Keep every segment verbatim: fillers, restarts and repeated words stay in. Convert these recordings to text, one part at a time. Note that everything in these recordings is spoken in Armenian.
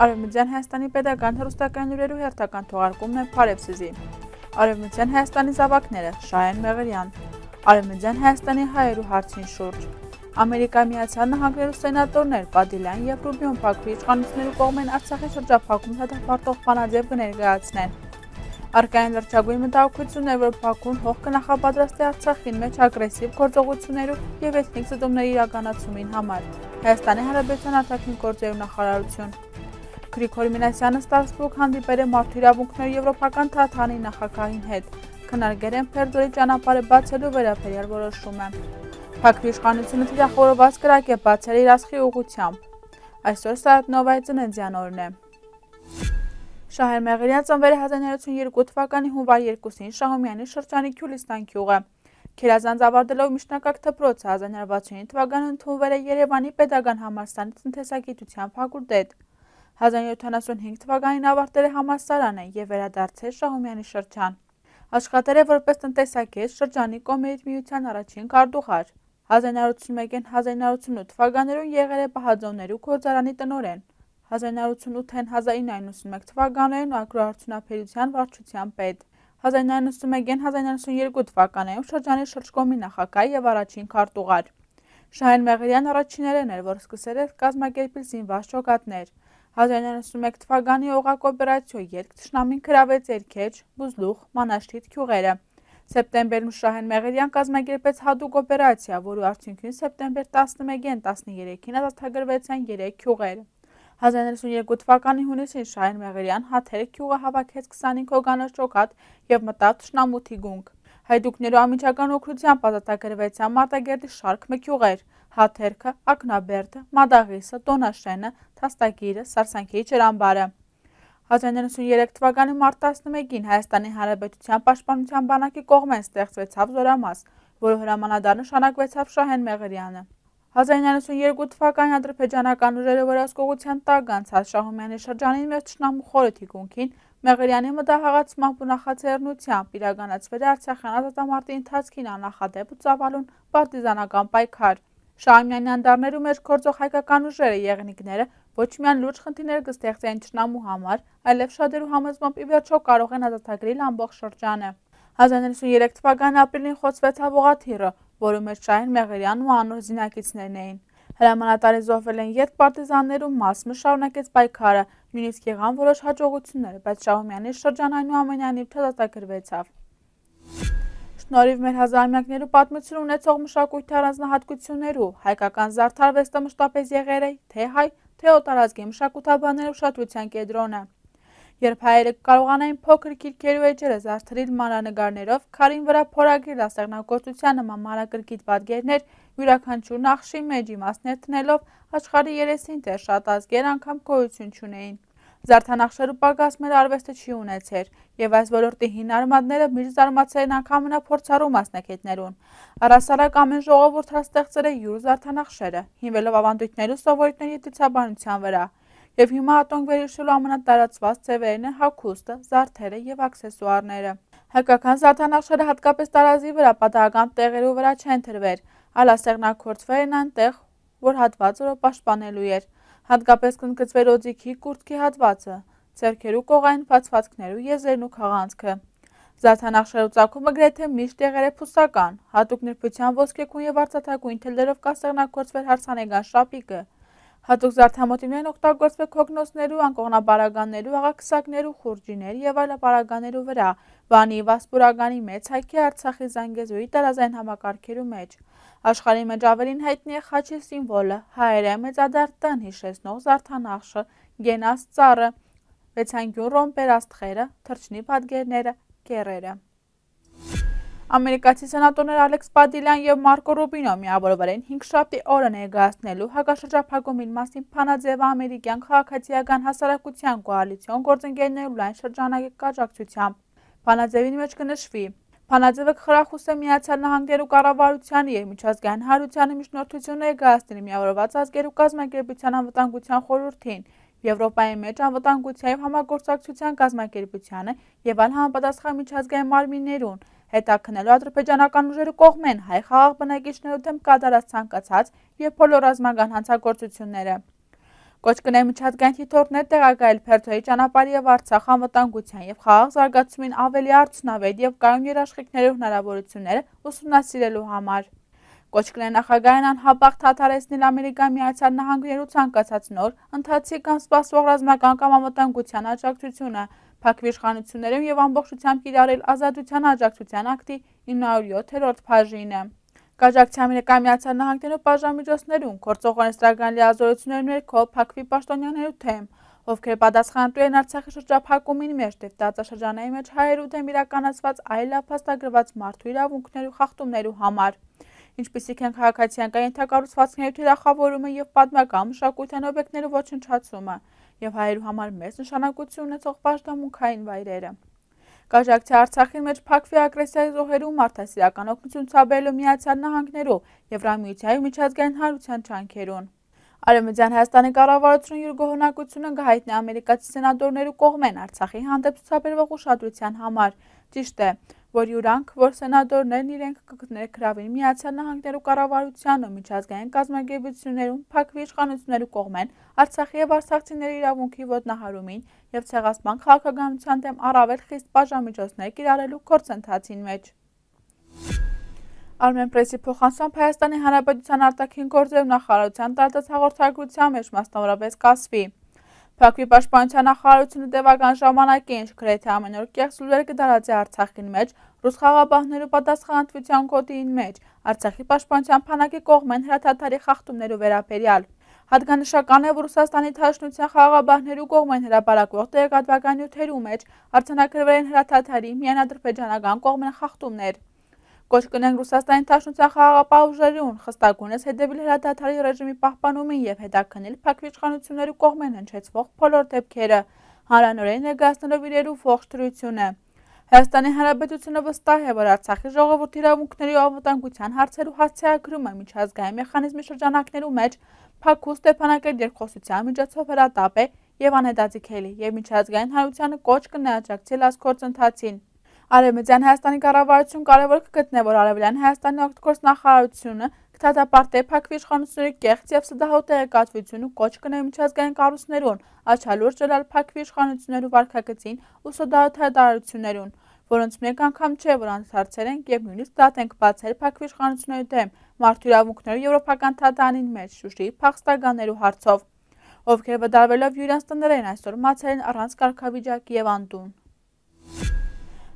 Արևմտյան Հայաստանի պետական հեռուստական լուրերու հերթական թողարկումն է Փարեվսիզի։ Արևմտյան Հայաստանի զավակները Շահեն Մեղրյան։ Արևմտյան Հայաստանի հայերու հարցին շուրջ։ Ամերիկայի Միացյալ Նահանգներու սենատորներ Պադիլյան եւ Ռուբիոն Փակվի իշխանություններու կողմեն Արցախի շրջափակում հետապարտող բանաձև կներկայացնեն։ Արկային լրջագույն մտահոգություններ, որ Բաքուն հող կնախապատրաստի Արցախին մեջ ագրեսիվ գործողություններու եւ էթնիկ զտումների իրականացումին համար։ Հայաստանի Հանրապետության արտաքին գործերու նախարարություն։ Գրիգոր Մինասյանը Ստրասբուրգ հանդիպել է մարդու իրավունքների եվրոպական թատրոնի նախագահին հետ։ Քննարկել են Փերձորի ճանապարհը բացելու վերաբերյալ որոշումը։ Փակվի իշխանությունը թիրախորոված կրակ է բացել իր ասխի ուղղությամբ։ Այսօր Սայաթնովայի ծննդյան օրն է։ Շահեն Մեղրյան ծնվել է հազար նոյ հարյուր ութսուն երկու թվականի հունվար երկուսին Շահումյանի շրջանի Քյուլիստան գյուղը։ Քերազանց ավարտելով միջնակարգ դպրոցը հազար նոյ հարյուր վաթսունինը թվականին ընդունվել է Երևանի պետական համալսարանի տնտեսագիտության ֆակուլտետ։ հազար նոյ հարյուր յոթանասունհինգ թվականին ավարտել է համալսարանը եւ վերադարձել Շահումյանի շրջան։ Աշխատել է որպես տնտեսագետ շրջանի կոմերից միության առաջին քարտուղար։ հազար նոյ հարյուր ութսունմեկին հազար նոյ հարյուր ութսունութ թվականներուն եղել է Պահաձոներու գործարանի տնօրեն։ հազար նոյ հարյուր ութսունութին հազար ինը հարյուր նոյնասունմեկ թվականներին ագրոարդյունաբերության վարչության պետ։ հազար նոյ հարյուր նոյնասունմեկին հազար նոյ հարյուր ութսուներկու թվականներին շրջանի շրջկոմի նախագահ եւ առաջին քարտուղար։ Շահեն Մեղրյան առաջիններն էր, որ սկսել է կազմակերպել զինված ջոկատներ։ հազար նոյ հարյուր նոյնասունմեկ թվականի օղակ օպերացիոյ ելք թշնամին գրավեց Երգեջ, Բուզլուխ, Մանաշտիթ գյուղերը։ Սեպտեմբերում Շահեն Մեղրյան կազմակերպեց հատուկ օպերացիա, որի արդյունքին սեպտեմբեր տասնմեկին տասներեքին ազատագրվեցան երեք գյուղեր։ հազար նոյ հարյուր ութսունյերկու թվականի հունիսին Շահեն Մեղրյան Հաթեր գյուղը հավաքեց քսանհինգ հոգանոց ջոկատ եւ մտավ թշնամութի գունք։ Հայդուկներու ամիջական օգնությամբ ազատագրվեցան Մարտակերտի շարք մի գյուղեր՝ Հաթերքը, Ակնաբերդը, Մադաղիսը, Տոնաշենը, Թաստագիրը, Սարսանքի ջրամբարը։ հազար նոյ հարյուր ութսուներեք թվականի մարտ տասնմեկին Հայաստանի Հանրապետության պաշտպանության բանակի կողմեն ստեղծվեցավ զորամաս, որը հրամանատար նշանակվեցավ Շահեն Մեղրյանը։ հազար նոյ հարյուր ութսուներկու թվականին ադրբեջանական ուժերը վերահսկողության տակ անցած Շահումյանի շրջանին մեջ թշնամու խորը թիկունքին Մեղրյանի մտահղացմամբ ու նախաձեռնությամբ իրականացվել է Արցախյան ազատամարտի ընթացքին աննախադեպ ու ծավալուն պարտիզանական պայքար։ Շահումյանի անդառներու մեջ գործող հայկական ուժերը եղնիկները ոչ միայն լուրջ խնդիրներ կստեղծեն թշնամու համար, այլև շատերու համոզմամբ ի վերջո կարող են ազատագրել ամբողջ շրջանը։ հազար նոյ հարյուր ութսուներեք թվականի ապրիլին խոցվեցավ Օղաթիռը, որի մեջ Շահեն Մեղրյանն ու անոր զինակիցներն էին։ Հրամանատարի զոհվել են երբ պարտիզաններու մասը շարունակեց պայքարը, նույնիսկ եղան որոշ հաջողություններ, բայց Շահումյանի շրջան այնուամենայնիվ չազատագրվեցավ։ Շնորհիվ մեր հազարամյակներու պատմություն ունեցող մշակույթի առանձնահատկություններու հայկական զարդարվեստը մշտապես եղել է թե հայ, թե օտարազգի մշակութաբաններու ուշադրության կենտրոնը։ Երբ հայերը կարողանային փոքր քիրքերու էջերը զարդարել մանրանկարներով, քարին վրա փորագրել ասեղնագործության նման մանրակրկիտ պատկերներ, յուրաքանչյուր նախշի մեջ իմաստներ տնելով, աշխարհի երեսին դեռ շատ ազգեր անգամ գոյություն չունեին։ Զարդանախշերու պակաս մեր արվեստը չի ունեցեր, եւ այս ոլորտի հին արմատները միշտ զարմացել են անգամ ամենափորձառու մասնակիցներուն։ Առհասարակ ամեն ժողովուրդ ստեղծել է յուր զարդանախշերը, հիմնվելով ավանդույթներու սովորույթների եւ դիցաբանության վրա։ Եվ հիմա ատոնք վերհիշելու ամենատարածված ձևերն են հագուստը, զարդերը եւ աքսեսուարները։ Հայկական զարդանախշերը հատկապես տարազի վրա պատահական տեղերու վրա չեն դրվել, այլ ասեղնագործվել են այնտեղ, որ հատվածը պաշտպանելու էր։ Հատկապես կնկծվել օձիքի կուրծքի հատվածը, ձեռքերու կողային բացվածքներու եզերն ու քաղանցքը։ Զարդանախշերու ծագումը գրեթե միշտ եղել է փուսական, հատուկ նրբության ոսկեգույն եւ արծաթագույն թելերով կասեղնագործվել հարսանեկան շապիկը։ Հատուկ զարդամոտիվներ օգտագործվել քոգնոցներու, անկողնապարագաներու, աղաքսակներու, խուրջիներ եւ այլ պարագաներու վրա, Վանի, Վասպուրականի մեծ հայքի, Արցախի, Զանգեզուրի տարազային համակարգերու մեջ։ Աշխարհի մեջ ավելին հայտնի է խաչի սիմվոլը, հայերը մեծադար տան հիշեցնող զարդանախշը, գենաս ծառը, վեցանկյուն ռոմբեր աստղերը, թռչնի պատկերները, կեռերը։ Ամերիկացի սենատորներ Ալեքս Պադիլյան եւ Մարկո Ռուբինո միավորվել են հինգշաբթի օրը ներկայացնելու հակաշրջափակումի մասին բանաձևը ամերիկյան քաղաքացիական հասարակության կոալիցիոն գործընկերներու լայն շրջանակի աջակցությամբ։ Բանաձևի մեջ կնշվի. Բանաձևը կխրախուսե Միացյալ Նահանգներու կառավարությանը եւ միջազգային հանրությանը միջնորդություն ներկայացնել միավորված ազգերու կազմակերպության անվտանգության խորհրդին, Եվրոպայի մեջ անվտանգության եւ համագործակցության կազմակերպությանը եւ այլ համապատասխան միջազգային մարմիններուն, հետաքննելու ադրբեջանական ուժերու կողմեն հայ խաղաղ բնակիչներու դեմ կատարած ցանկացած եւ բոլոր ռազմական հանցագործությունները։ Կոչ կնե միջազգային թիթորներ տեղակայել Փերթոյի ճանապարհի եւ Արցախ անվտանգության եւ խաղաղ զարգացումին ավելի արդյունավետ եւ կայուն երաշխիքներով հնարավորությունները ուսումնասիրելու համար։ Կոչ կնե նախագահային անհապաղ դադարեցնել Ամերիկայի Միացյալ Նահանգներու ցանկացած նոր, ընթացիկ կամ սպասվող ռազմական կամ անվտանգության աջակցությունը, փակվի իշխանություններում եւ ամբողջությամբ կիրառել Ազատության աջակցության ակտի ինը հարյուր յոթերորդ բաժինը։ Կաջակցի Ամերիկայի Միացյալ Նահանգներու բաժանմիջոցներուն գործողական ստրագրական լիազորությունների ներքո փակվի պաշտոնյաներու թեմ, ովքեր պատասխանատու են Արցախի շրջափակումին մեջ եւ տարածաշրջանային մեջ հայերու դեմ իրականացված այլ փաստագրված մարդու իրավունքներու խախտումներու համար, ինչպիսիք են քաղաքացիական ենթակառուցվածքների թիրախավորումը եւ պատմական մշակութային օբյեկտներու ոչնչացումը եւ հայերու համար մեծ նշանակություն ունեցող պաշտամունքային վայրերը։ Կաջակցի Արցախի մեջ փակվի ագրեսիայի զոհերու մարդասիրական օգնություն ցուցաբերելու Միացյալ Նահանգներու Եվրամիության միջազգային հանրության ջանքերուն։ Արևմտյան Հայաստանի կառավարությունը իր գոհունակությունը կհայտնի ամերիկացի սենատորներու կողմեն Արցախի հանդեպ ցուցաբերվող ուշադրության համար։ Ճիշտ է, որ յուրանք, որ սենատորներն իրենք կներգրավին Միացյալ Նահանգներու կառավարության ու միջազգային կազմակերպություններուն փակվի իշխանություններու կողմեն Արցախի եւ արցախցիների իրավունքի ոտնահարումին եւ ցեղասպան քաղաքականության դեմ առավել խիստ բաժանմիջոցներ կիրառելու գործընթացին մեջ։ Armenpress-ի փոխանցմամբ Հայաստանի Հանրապետության արտաքին գործերու նախարարության տարածած հաղորդագրության մեջ մասնավորապես կասվի. Փակվի պաշտպանության նախարարությունը տևական ժամանակի ինչ գրեթե ամեն օր կեղծ լուրեր կդարածի Արցախին մեջ, ռուս խաղաղապահներու պատասխանատվության կոդին մեջ, Արցախի պաշտպանության բանակի կողմեն հրաթաթարի խախտումներու վերաբերյալ։ Հատկանշական է, որ Ռուսաստանի Դաշնության խաղաղապահներու կողմեն հրապարակվող տեղեկատվական նյութերու մեջ արձանագրվել են հրաթաթարի միայն ադրբեջանական կողմեն խախտումներ։ Կոչ կնենք Ռուսաստանի Դաշնության խաղաղապահ ուժերուն խստակունս հետևել հրաթաթարի ռեժիմի պահպանումին եւ հետաքննել փակվի իշխանություններու կողմեն հնչեցվող բոլոր դեպքերը, հանրանորեն ներկայացնելով իրերու ողջ դրությունը։ Հայաստանի Հանրապետությունը վստահ է, որ Արցախի ժողովրդի իրավունքների ու անվտանգության հարցերու հասցեագրումը միջազգային մեխանիզմի շրջանակներու մեջ փակու Ստեփանակերտ երկխոսության միջոցով հրատապ է եւ անհետաձգելի եւ միջազգային հանրությանը կոչ կնե աջակցել այս գործընթացին։ Արևմտյան Հայաստանի կառավարություն կարևոր կգտնե, որ Արևելյան Հայաստանի օգտագործ նախարարությունը կդատապարտի փակվի իշխանությունների կեղծ եւ սդահու տեղեկատվություն ու կոչ կնե միջազգային կառույցներուն աչալուրջ ելալ փակվի իշխանություններու վարքագծին ու սդահու հայտարարություններուն, որոնց մեկ անգամ չէ, որ անդրադարձել ենք եւ նույնիսկ դատ ենք բացել փակվի իշխանությունների դեմ մարդու իրավունքներու եվրոպական թատրոնին մեջ Շուշիի փախստականներու հարցով, ովքեր վդարվելով յուրյանց տներեն այսօր մացել են առանց կարգավիճակի եւ անտուն։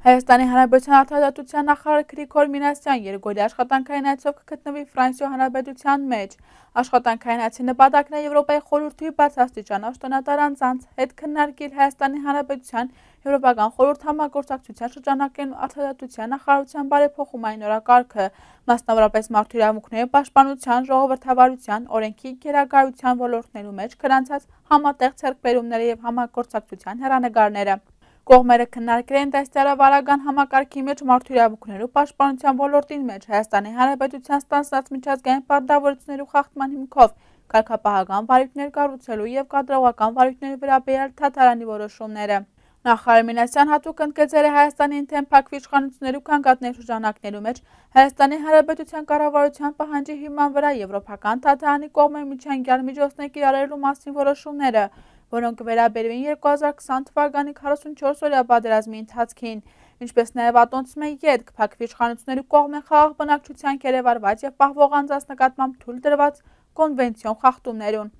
Հայաստանի Հանրապետության արտադրության նախարար Գրիգոր Մինասյան երկօրյա աշխատանքային այցով կգտնվի Ֆրանսիա Հանրապետության մեջ։ Աշխատանքային այցի նպատակն է Եվրոպայի խորհրդի բացասահման աշտոնատար անձանց հետ քննարկել Հայաստանի Հանրապետության Եվրոպական խորհուրդ համագործակցության շրջանակներն ու արտադրության նախարարության բարեփոխումային օրակարգը, մասնավորապես մարդու իրավունքների պաշտպանության, ժողովրդավարության, օրենքի գերագայության ոլորտներու մեջ գրանցած համատեղ ձեռքբերումները եւ համագործակցության հեռանկարները։ Կողմերը քննարկել են դաստիարավարական համակարգի մեջ մարդու իրավունքներու պաշտպանության ոլորտին մեջ Հայաստանի Հանրապետության ստանձնած միջազգային պարտավորություններու խախտման հիմքով կարգապահական վարույթներ կառուցելու եւ կադրողական վարույթների վերաբերյալ դատարանի որոշումները։ Նախարար Մինասյան հատուկ ընդգծել է Հայաստանի ինթեն փակվի իշխանություններու կանգատների շրջանակներու մեջ Հայաստանի Հանրապետության կառավարության պահանջի հիման վրա եվրոպական դատարանի կողմէ միջանկյալ միջոցներ կիրառելու մասին որոշումները, որոնք վերաբերվեն երկու հազար քսան թվականի քառասունչորս օրյա պատերազմի ընթացքին, ինչպես նաև ատոնցում է ետք փակվի իշխանությունների կողմեն խաղաղ բնակչության կերևարված եւ պահվող անձանց նկատմամբ թույլ տրված կոնվենցիոն խախտումներուն։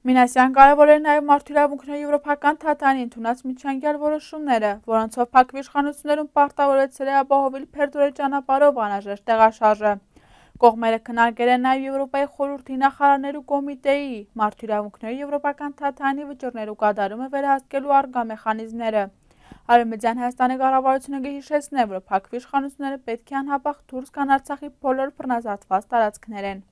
Մինասյան կարևորել նաև մարդու իրավունքների եվրոպական թատրոնի ընդունած միջանկյալ որոշումները, որոնցով փակվի իշխանություններուն պարտավորեցել է ապահովել Փերթորի ճանապարհով անհրաժեշտ տեղաշարժը։ Կողմերը քննարկել են նաև Եվրոպայի խորհրդի նախարարներու կոմիտեի մարդու իրավունքների եվրոպական թատրոնի վճռներու կատարումը վերահսկելու առկա մեխանիզմները։ Արևմտյան Հայաստանի կառավարությունը կհիշեցնե, որ փակվի իշխանությունները պետք է անհապաղ դուրս գան Արցախի բոլոր բռնազավթված տարածքներեն։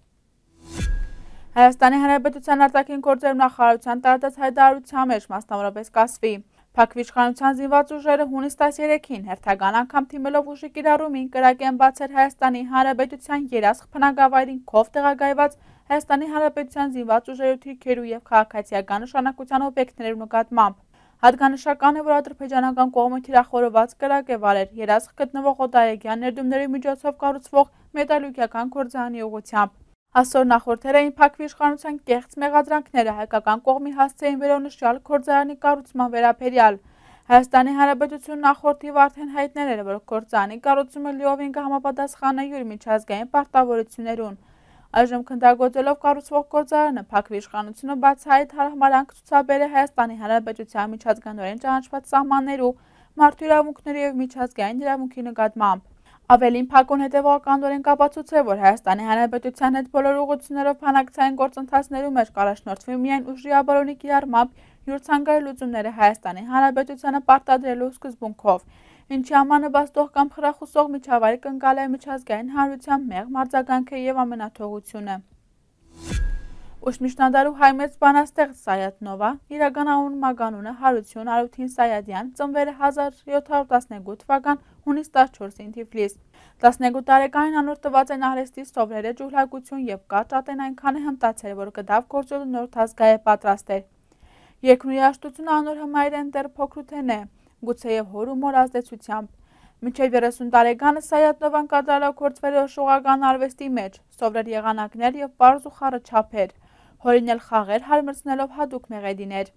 Հայաստանի Հանրապետության արտաքին գործերու նախարարության տարածած հայտարարության մեջ մասնավորապես կասվի. Փակվի իշխանության զինված ուժերը հունիս տասներեքին հերթական անգամ թիմելով ուժի կիրառումին կրակ են բացել Հայաստանի Հանրապետության երազխ բնակավայրին քով տեղակայված Հայաստանի Հանրապետության զինված ուժերու թիրքերու եւ քաղաքացիական նշանակության օբյեկտներու նկատմամբ։ Հատկանշական է, որ ադրբեջանական կողմը թիրախորված կրակ է վարել երազխ գտնվող օտարերկրյա ներդրումների միջոցով կառուցվող մետալուրգիական գործարանի ուղղությամբ։ Հասոր նախորդերային փակվի իշխանության կեղծ մեղադրանքները հայկական կողմի հասցեին վերոնշյալ գործարանի կառուցման վերաբերյալ։ Հայաստանի Հանրապետություն նախորդի արդեն հայտնել էր, որ գործարանի կառուցումը լիովին կհամապատասխանե յուր միջազգային պարտավորություններուն։ Այժմ քննարկելով կառուցվող գործարանը փակվի իշխանությունը բացահայտ հարմարանք ցուցաբեր է Հայաստանի Հանրապետության միջազգայինորեն ճանաչված սահմաններու, մարդու իրավունքների եւ միջազգային իրավունքի նկատմամբ։ Ավելին փակուն հետևականորեն կապացուցե, որ Հայաստանի Հանրապետության հետ բոլոր ուղղություններով բանակցային գործընթացներու մեջ կառաջնորդվի միայն ուժի աբարոնի կիրառմամբ յուր ցանկալի լուծումները Հայաստանի Հանրապետությանը պարտադրելու սկզբունքով, ինչի ամաննպաստող կամ խրախուսող միջավայր կընկալ է միջազգային հանրության մեղմ արձագանքը եւ ամենաթողությունը։ Ուշմիշնադարու հայ մեծ բանաստեղծ Սայաթ Նովա, իրական անունը Հարություն Արութին Սայադյան, ծնվել է հազար յոթ հարյուր տասնեքու թվական հունիս տասնչորսին Թիֆլիս։ տասնեքու տարեկանին անոր տված են արհեստի սովրերը ջուլհակություն եւ կարճ ատեն այնքան է հմտացել, որ գդավ գործելու նոր թազգայե պատրաստ էր։ Երկրի երաժշտությունը անոր հմայր են դեռ փոքրութեն է, գուցեև հոր ու մոր ազդեցությամբ։ Մինչև երեսուն տարեկանը Սայաթ Նովան կատարելագործվել է շուղական արվեստի մեջ, սովրեր եղանակներ եւ պարզ ու խառը չափեր, հորինել խաղեր հարմրցնելով հատուկ մեղեդիներ։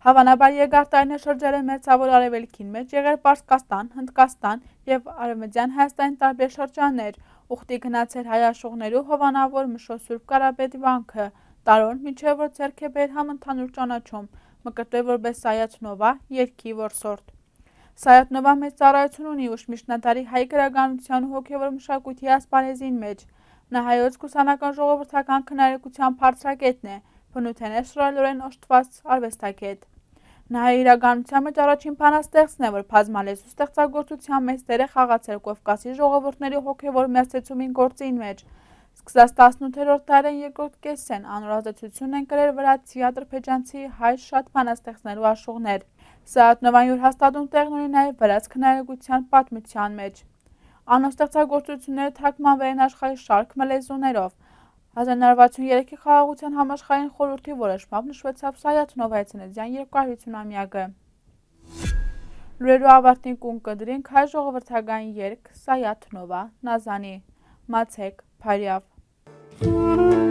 Հավանաբար երկար շրջել է Մերձավոր Արևելքին մեջ, եղել Պարսկաստան, Հնդկաստան եւ Արևմտյան Հայաստանի տարբեր շրջաններ, ուխտի գնացել հայ աշխուղներու հովանավոր Մշո Սուրբ Կարապետի վանքը, տարոն մինչև որ ձեռք է բերել համընդհանուր ճանաչում, մկրտվել որպես Սայաթ Նովա, երգի որսորդ։ Սայաթ Նովան մեծ ծառայություն ունի ուշմիշնադարի հայ գրականության ու հոգևոր մշակույթի ասպարեզին մեջ։ Նա հայոց կուսանական ժողովրդական քննարկության բարձրակետն է, բնութեն է շռայլորեն օժտված արվեստագետ։ Նա իրականության մեջ առաջին բանաստեղծն է, որ բազմալեզու ստեղծագործության մեծ դեր է խաղացել Կովկասի ժողովուրդների հոգևոր մերձեցումին գործին մեջ։ Սկսած տասնութերորդ դարին երկրորդ կեսեն անոր ազդեցություն են կրել վրացի, ադրբեջանցի, հայ շատ բանաստեղծներու աշխուղներ։ Սայաթ Նովան յուր հաստատուն տեղն ունի նաև վրաց քննարկության պատմության մեջ։ Անոր ստեղծագործությունները թարգմանվել են աշխարհի շարք լեզուներով։ հազար նոր վաթսունութերեքի խաղաղության համաշխարհային խորհրդի որոշմամբ նշվեցավ Սայաթ Նովայի ծննդյան երկու հարյուր ամյակը։ Լուրերու ավարտին կուն կդրինք հայ ժողովրդական երգ Սայաթ Նովա, Նազանի, Մացեք, Փարյավ։